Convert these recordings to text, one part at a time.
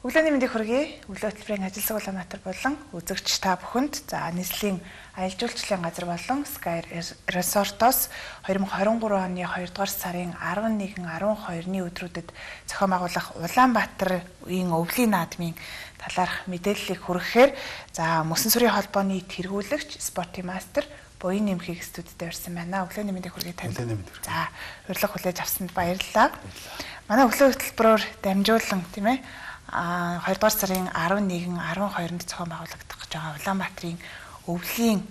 Өглөөний мэндийг хүргэе. Өглөө хөтөлбөрийн ажил сургуулийн натар болон үзэгч та бүхэнд нийслэлийн аялал жуулчлалын газар болон Sky Resort-оос 2023 оны 2 дугаар сарын 11, 12-ны өдрүүдэд зохион байгуулах Улаанбаатарын өвлийн наадмын талаарх мэдээллийг хүргэхээр Мөсөн сүрийн холбооны тэргүүлэгч Спортын мастер Буян Нэмхийг студид ирсэн байна. Өглөөний мэндийг хүргэе танд. За, урилга хүлээж авсанд баярлалаа. Манай өглөө хөтөлбөрөөр дамжуулан тийм ээ 2 дугаар сарын 11, 12-нд зохион байгуулагдах гэж байгаа Улаанбаатарын өвлийн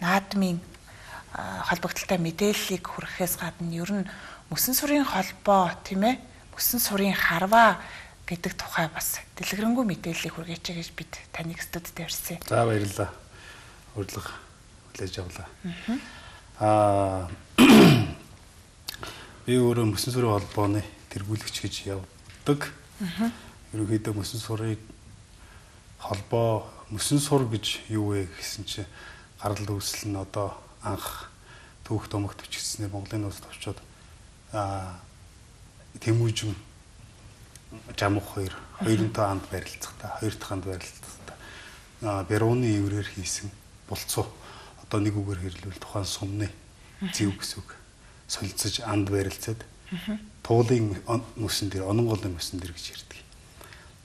наадмын холбогдлолтой мэдээллийг хүргэхээс гадна ер нь Мөсөн сүрийн холбоо тийм ээ Мөсөн сүрийн харваа гэдэг тухай бас дэлгэрэнгүй мэдээллийг хүргэж гэж бид таныг студид ирсэн. За баярлалаа. Урилга хүлээж авлаа. Би өөрөө Мөсөн сүрийн холбооны тэргүүлэгч гэж явдаг. Ерөнхийдөө Мөсөн сүрийн холбоо Мөсөн сур гэж юу вэ гэсэн чинь гарал үүсэл нь одоо анх түүх томогт бичигдснээр Монголын улс товчоод Тэмүүжин Жамух хоёрын анд барилцахтаа хоёр дахь анд барилцахтаа Берууны иврээр хийсэн булцуу одоо нэг үгээр хэрлүүл тухайн сумны зэв гэсүг солилцож анд барилцаад туулын мөсөн дээр ононголын мөсөн дээр гэж ярьдаг.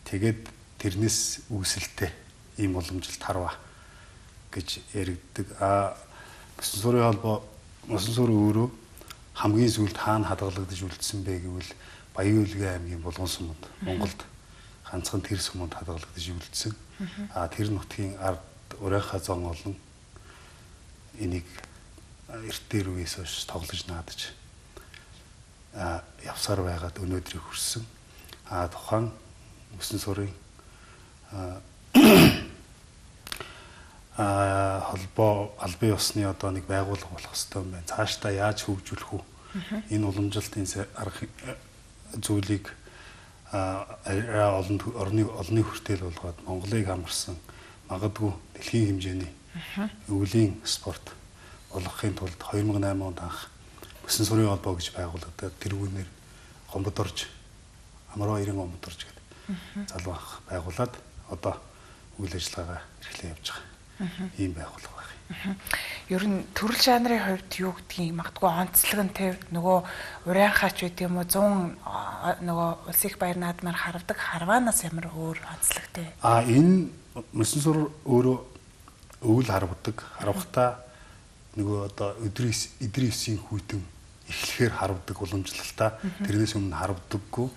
Тэгээд тэрнээс үүсэлтэй ийм уламжилт харваа гэж яригддаг. Мөсөн сүрийн холбоо Мөсөн сүр өөрөө хамгийн сүүлд хаана хадгалагдаж үлдсэн бэ гэвэл Баян-Улгийн аймгийн Булган суманд Монголд ганцхан тэр суманд хадгалагдаж үлдсэн. Тэр нутгийн ард урайхаа зон олон энийг эрт дээр үеэс хойш тоглож наадаж явсаар байгаад өнөөдрийг хүрсэн. Тухайн Мөсөн сүрийн холбоо албан ёсны одоо нэг байгууллага болох хэрэгтэй юм байна. Цаашдаа яаж хөгжүүлэх үү? Энэ уламжлалтын арга зүйлийг олонний хүртэл болгоод Монголыг хамарсан магадгүй дэлхийн хэмжээний өвлийн спорт болгохын тулд 2008 онд анх Мөсөн сүрийн холбоо гэж байгуулагдаад тэрүүгээр Гомбодорж Амраа 90 Гомбодорж гэдэг залуу анх байгуулад одоо үйл ажиллагаагаа эрхлэн явж байгаа. Ийм байгууллага байна. Ер нь төрөл жанрын хувьд юу гэдгийг магадгүй онцлог нь тэр нөгөө урайхаач байт юм уу 100 нөгөө улс их баяр наадмаар харвдаг харваанаас ямар өөр онцлогтэй. Энэ Мөсөн сүр өөрөө өвөл харвдаг. Харвахтаа нөгөө одоо Идрисийн хүйтэн эхлэхээр харвдаг уламжлалтаа тэрнээс өмнө харвдаггүй.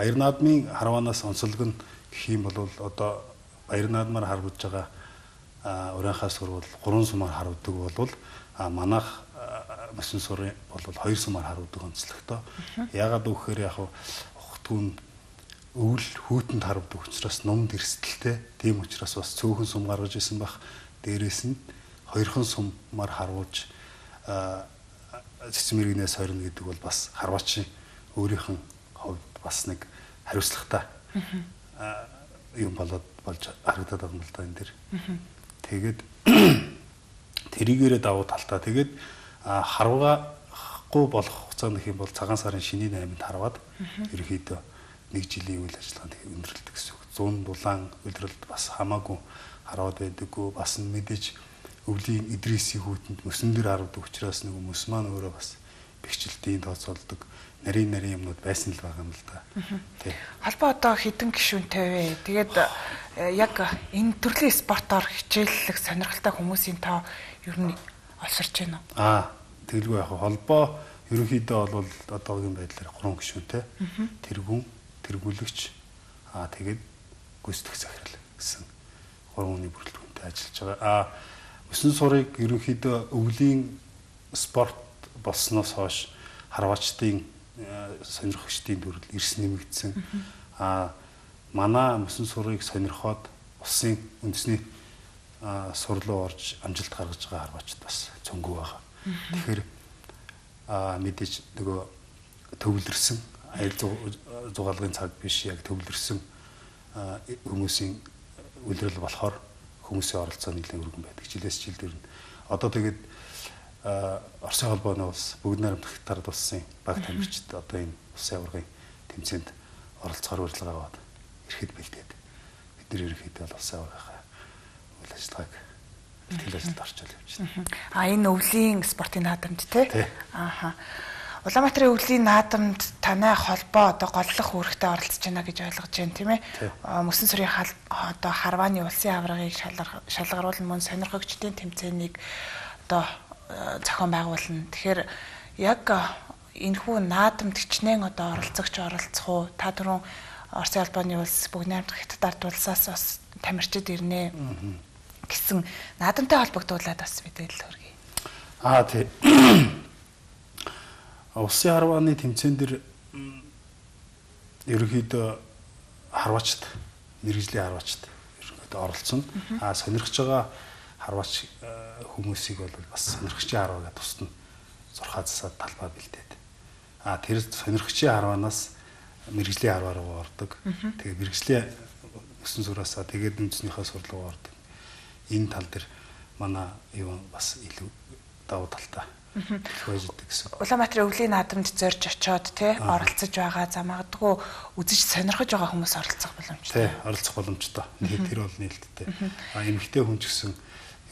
Баяр наадмын харваанаас онцлог нь гэх юм бол одоо баяр наадмаар харвдж байгаа урайхаас сурвал 3 сумаар харвдаг бол манайх Мөсөн сүрийн бол 2 сумаар харвдаг онцлогтой. Яагаад гэвэл яг ухтгүн өвөл хүүтэнд харвдаг учраас номд эрсдэлтэй. Тийм учраас бас цөөхөн сум гаргаж исэн бах. Дээрээс нь 2хан сумаар харвуулж цэцэн мэрэгнээс хорно гэдэг бол бас харваачийн өөрийнх нь хувьд бас нэг хариуцлагатай юм болж харагдаад байгаа юм л да энэ дэр. Тэгээд тэрийгээрээ давуу талтай. Тэгээд харвахгүй болох хугацаанд гэх юм бол цагаан сарын шинийн 8-нд харваад ерөнхийдөө 1 жилийн үйл ажиллагаанд өндөрлөдөг гэсэн үг. 100 дулаан өдрөлд бас хамаагүй харваад байдаггүй. Бас мэдээж өвлийн Идрисийн хүүтэнд мөсөн дээр харвдаг учраас нэг мөс маань өөрөө бас бэхжилтийн тооцоолдог нарийн юмнууд байсан л байгаа юм л да. Тий. Холбоо одоо хэдэн гишүүнтэй вэ? Тэгээд яг энэ төрлийн спортоор хичээллэх сонирхолтой хүмүүсийн тоо ер нь олсорч байна уу? Тэгэлгүй яг холбоо ерөнхийдөө бол одоогийн байдлаар 3 гишүүнтэй. Тэргүүн, тэргүүлэгч, тэгээд гүйцэтгэх захирал гэсэн 3 хүний бүрэлдэхүүнтэй ажиллаж байгаа. Мөсөн сүрийг ерөнхийдөө өвлийн спорт болсноос хойш харваачдын сонирхогчдын төрөл эрс нэмэгдсэн. Манай Мөсөн сүрийг сонирхоод улсын үндэсний сур руу орж амжилт гаргаж байгаа харваачд бас цөөнгөө байгаа. Тэгэхээр мэдээж нөгөө төвлөрсөн аялал зугаалгын цаг биш яг төвлөрсөн хүмүүсийн үйлрэл болохоор хүмүүсийн оролцоо нэлээд өргөн байдаг. Жилээс жил дээр нь одоо тэгээд Оросын холбооны улс бүгд найрамдах тард улсын баг тамирчид одоо энэ улсын аваргын тэмцээнд оролцохоор урилга аваад ирэхэд бэлдээд бид нэр ерөнхийдөө бол улсын аваргынхаа үйл ажиллагааг бэлтгэл ажилд орчуул явж байна. Энэ өвлийн спортын наадамд тий? Ааха. Улаанбаатарын өвлийн наадамд танай холбоо одоо голлох үүрэгтэй оролцож байна гэж ойлгож байна тийм ээ. Мөсөн сүрийн одоо Харвааны улсын аваргыг шалгаруулна мөн сонирхогчдын тэмцээнийг одоо зохион байгуулна. Тэгэхээр яг энэхүү наадамд хичнээн одоо оролцох уу? Та түрүүн Оросын албаны улс бүгд найрамдах Хятад ард улсаас бас тамирчид ирнэ гэсэн наадамтай холбогдуулаад бас мэдээлэл хүргэе. Тий. Улсын Харвааны тэмцээн дээр ерөнхийдөө харвачд, мэргэжлийн харвачд ерөнхийдөө оролцсон. Сонирхож байгаа харвач хүмүүсийг бол бас сонирхчийн харваагаа тусна 6 засаад талбай бэлдээд. Тэр сонирхчийн харваанаас мэргэжлийн харваа руу ордог. Тэгээ мэргэжлийн өсөн сураасаа тэгээд үндэснийхээ сурлаг руу ордог. Энэ тал дээр манай юу бас илүү давуу талтай. Улаанбаатарын өвлийн наадамд зорж очиод тий оролцож байгаа магадгүй үзэж сонирхож байгаа хүмүүс оролцох боломжтой. Тий, оролцох боломжтой. Тэр бол нээлттэй. Эмэгтэй хүн ч гэсэн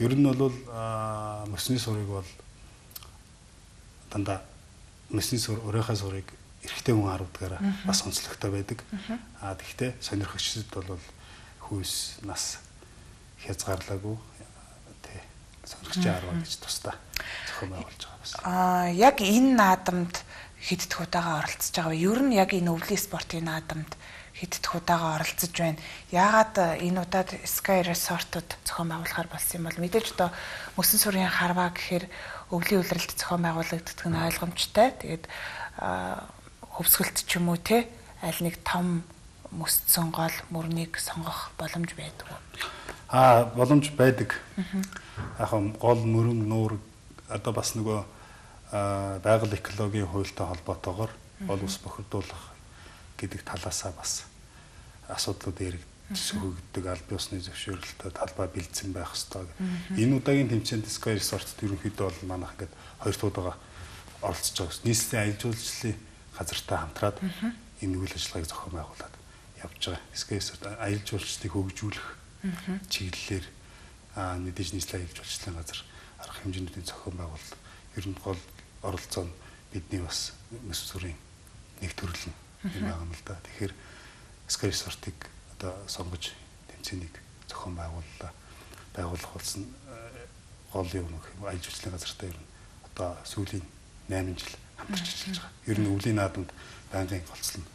ер нь бол мөсний сурыг бол дандаа мөсний сур өөрийнхөө сурыг эрэгтэй хүн харагдгаараа бас онцлогтой байдаг. Тэгэхдээ сонирхогчдод бол хүйс нас хязгаарлаагүй тий сонирхчийн харваа гэж тусдаа зохион байгуулж байгаа бас. Яг энэ наадамд хэд дэх удаага оролцож байгаа вэ? Ер нь яг энэ өвлийн спортын наадамд хэд дэх удаага оролцож байна? Яагаад энэ удаад Sky Resort-д зохион байгуулахаар болсон юм бол мэдээж одоо мөсөн сүрийн харваа гэхээр өвлийн улиралд зохион байгуулагддаг нь ойлгомжтой. Тэгээд хөвсгөлт ч юм уу те аль нэг том мөсцсөн гол мөрнийг сонгох боломж байдаг уу? Боломж байдаг. Яг гол мөрөн нуур одоо бас нөгөө байгаль экологийн хуультай холбоотойгоор гол ус бохирдуулах гэдэг талаасаа бас асуудлууд эргэгддэг аль биесны зөвшөөрөлтөд талбай бэлдсэн байх ёстой. Энэ удаагийн тэмцээнд Sky Resort ерөнхийдөө бол манайх ингээд 2 туудаага оролцож байгаа. Нийслэлийн аялал жуулчлалын газартай хамтраад энэ үйл ажиллагааг зохион байгуулад явж байгаа. Sky Resort аялал жуулчлалыг хөгжүүлэх чиглэлээр мэдээж нийслэлийн аялал жуулчлалын газар арга хэмжээний зохион байгуулалт ер нь гол оролцоо нь бидний бас мөс сүрийн нэг төрөл нь байгаа юм л да. Тэгэхээр Sky Resort-ыг одоо сонгож тэмцээнийг зохион байгуулах болсон гол юм аялал жуулчлалын газартай ер нь одоо сүүлийн 8 жил хамтарч ажиллаж байгаа. Ер нь өвлийн наадамд байнгын голцол нь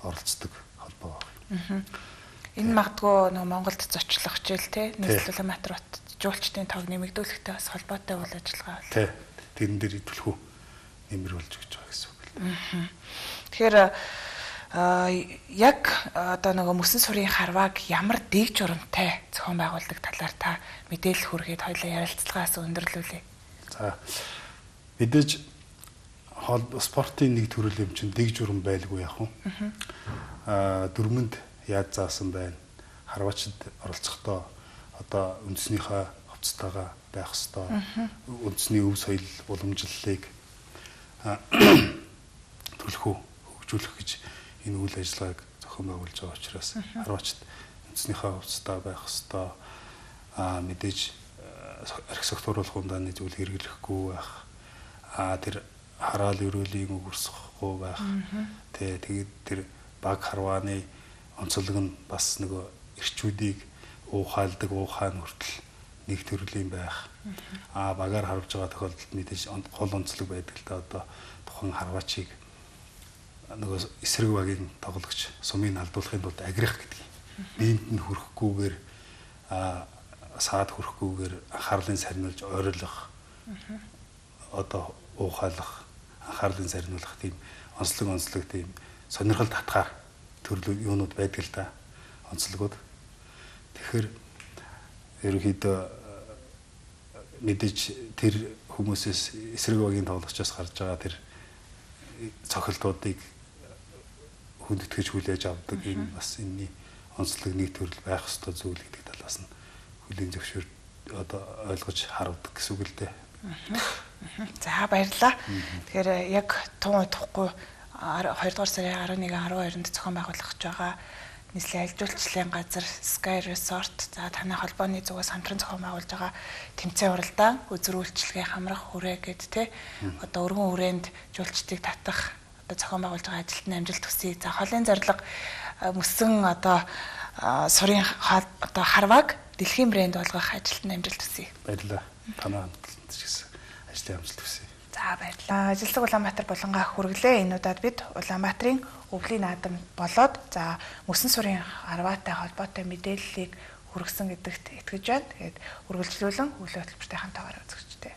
оролцдог холбоо байна. Энэ магадгүй нөгөө Монголд зочлох хичээл те нийслэл Улаанбаатар хот жуулчдын тоог нэмэгдүүлэхтэй бас холбоотой үйл ажиллагаа байна. Тий. Тэрэн дээр төлхөө нэмэрүүлж өгч байгаа гэсэн үг л. Тэгэхээр яг одоо нөгөө мөсөн сүрийн харвааг ямар дэг журамтай зохион байгуулдаг талаар та мэдээлэл хүргээд хоёулаа ярилцлагаас өндөрлүүлээ. За мэдээж спортын нэг төрөл юм чинь дэг журам байлгүй яах вэ? Дөрмөнд яаж заасан байна? Харвачд оролцохдоо одоо үндэснийхээ хувцастайгаа байх ёстой. Үндэсний өв соёл уламжлалыг төлхөө хөгжүүлэх гэж энэ үйл ажиллагааг зохион байгуулж байгаа учраас харвачд үндэснийхээ хувцастай байх ёстой. Мэдээж архисектуруулах ундааны зүйл хэрэглэхгүй байх. Тэр хараал өрөөлийн өгөрсөхгүй байх. Тэгээд тэр баг харвааны онцлог нь бас нөгөө эрчүүдийг уухайлдаг уухайн хүртэл нэг төрлийн байх. Багаар харвж байгаа тохиолдолд мэдээж гол онцлог байдаг л да. Одоо тухайн харвачийг нөгөө эсрэг багийн тоглогч сумыг алдуулахын тулд агрих гэдэг. Биенд нь хүрэхгүйгээр саад хүрэхгүйгээр анхаарлын сарниулж ойрлох одоо уухайлах анхаарлын сарниулах тийм онцлог тийм сонирхол татгаар төрлөө юунууд байдаг л да. Онцлогуд. Тэгэхээр ерөнхийдөө мэдээж тэр хүмүүсээс эсрэг багийн тоглогчоос гарч байгаа тэр цохилтуудыг хүндэтгэж хүлээж авдаг энэ бас энэний онцлог нэг төрөл байх ёстой зүйл гэдэг талаас нь хүлийн зөвшөөр одоо ойлгож харагдаг гэсэн үг л дээ. За баярлалаа. Тэгэхээр яг тун удахгүй 2 дугаар сарын 11-12-нд зохион байгуулах гэж байгаа нийслэлийн аялал жуулчлалын газар Sky Resort за танай холбооны зүгээс хамтран зохион байгуулж байгаа тэмцээн уралдаан үзэр үйлчлэгээ хамрах хүрээ гэд тэ одоо өргөн хүрээнд жуулчдыг татах одоо зохион байгуулж байгаа ажилтны амжилт хүсье. За холын зорилго мөсөн одоо сурын одоо харваг дэлхийн брэнд болгох ажилтны амжилт хүсье. Баярлалаа. Танай хамтлагт ч гэсэн ажлын амжилт хүсье. За баярлалаа. Ажилсаг Улаанбаатар булангаа хүргэлээ. Энэ удаад бид Улаанбаатарын өвлийн наадам болоод за мөсөн сурын харваатай холбоотой мэдээллийг хүргэсэн гэдэгт итгэж байна. Тэгээд үргэлжлүүлэн өглөө хөтөлбөртэй хамтаагаар үзэгчтэй.